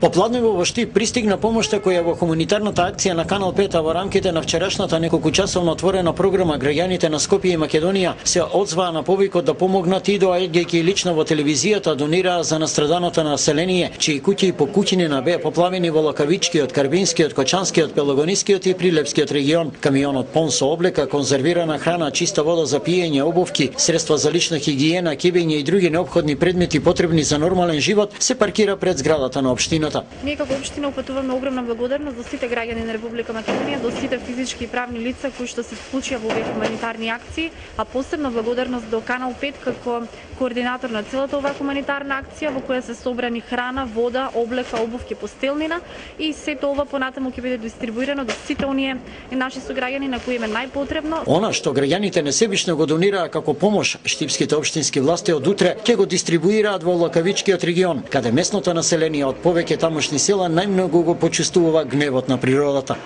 Попладнево во Штип пристигна помошта која во хуманитарната акција на Канал 5 во рамките на вчерашната неколкучасовна отворена програма граѓаните на Скопје и Македонија се одзваа на повикот да помогнат и доаѓајќи лично во телевизијата донираа за настраданото население, чии куќи и покуќинина беа поплавени во Локавичкиот, Карбинскиот, Кочанскиот, Пелагонискиот и Прилепскиот регион. Камионот пон со облека, конзервирана храна, чиста вода за пиење, обувки, средства за лична хигиена, кебење и други неопходни предмети потребни за нормален живот се паркира пред зградата на општината. Ние како општина упатуваме огромна благодарност до сите граѓани на Република Македонија, до сите физички и правни лица кои што се вклучија во овие хуманитарни акции, а посебно благодарност до Канал 5 како координатор на целата оваа хуманитарна акција во која се собрани храна, вода, облека, обувки, постелнина и сето ова понатаму ќе биде дистрибуирано до сите оние наши сограѓани на кои им е најпотребно. Она што граѓаните несебично го донираа како помош, штипските општински власти од утре ќе го дистрибуираат во Локавичкиот регион, каде местното население од повеќе тамошни села најмногу го почувствува гневот на природата.